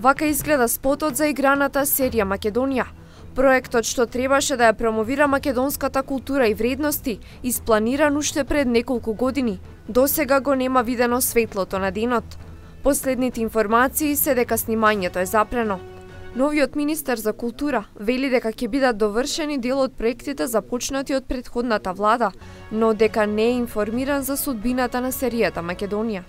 Вака изгледа спотот за играната серија Македонија. Проектот што требаше да ја промовира македонската култура и вредности, испланиран уште пред неколку години, досега го нема видено светлото на денот. Последните информации се дека снимањето е запрено. Новиот министер за култура вели дека ќе бидат довршени дел од проектите започнати од претходната влада, но дека не е информиран за судбината на серијата Македонија.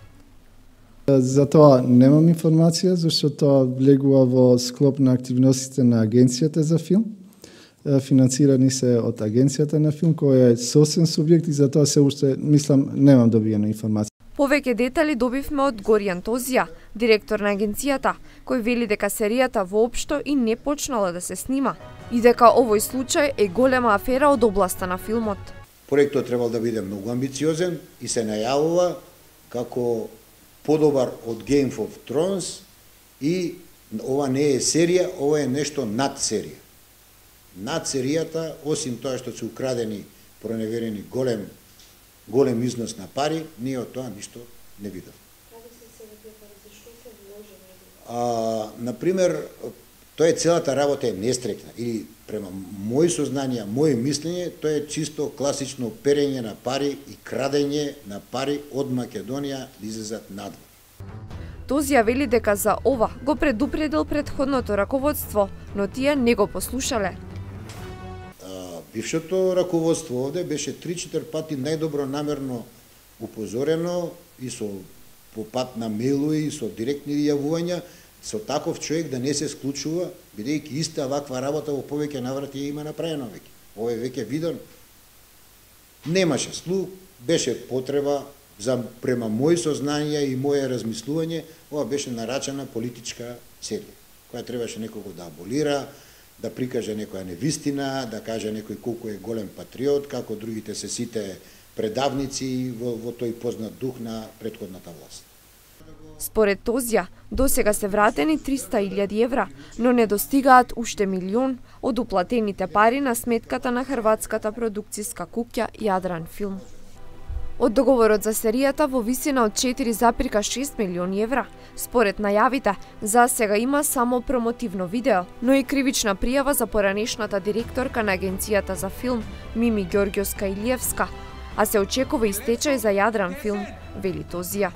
За тоа немам информација, зашто тоа влегува во склоп на активностите на Агенцијата за филм. Финансирани се од Агенцијата на филм, која е сосен субјект и за тоа се уште, мислам, немам добиена информација. Повеќе детали добивме од Горијан Тозија, директор на агенцијата, кој вели дека серијата воопшто и не почнала да се снима и дека овој случај е голема афера од областа на филмот. Проектот требал да биде многу амбициозен и се најавува како подобар од Game of Thrones и ова не е серија, ова е нешто над серија. Над серијата, осим тоа што се украдени, проневерени голем износ на пари, ние од тоа ништо не видов. Например, тоа е целата работа е нестрекна или према мои сознанија, моje мислење, тоа е чисто класично перење на пари и крадење на пари од Македонија да излезат надвор. Тозија вели дека за ова го предупредил претходното раководство, но тие не го послушале. Бившето раководство овде беше 3-4 пати најдобро намерно упозорено и по пат на мейлови и со директни јавувања со таков човек да не се склучува, бидејќи иста ваква работа во повеќе наврати има направено веќе. Ова е веќе видено. Немаше слух, беше потреба за према мои сознанија и моje размислување, ова беше нарачана политичка серија, која требаше некого да аболира, да прикаже некоја невистина, да каже некој колку е голем патриот, како другите се сите предавници во тој познат дух на претходната власт. Според Тозија, досега се вратени 300.000 евра, но не достигаат уште милион од уплатените пари на сметката на хрватската продукцијска куќа Јадран Филм. Од договорот за серијата во висина од 4,6 милиони евра, според најавите, за сега има само промотивно видео, но и кривична пријава за поранешната директорка на Агенцијата за филм Мими Ѓорѓовска-Илиевска, а се очекува и стечај за Јадран Филм, вели Тозија.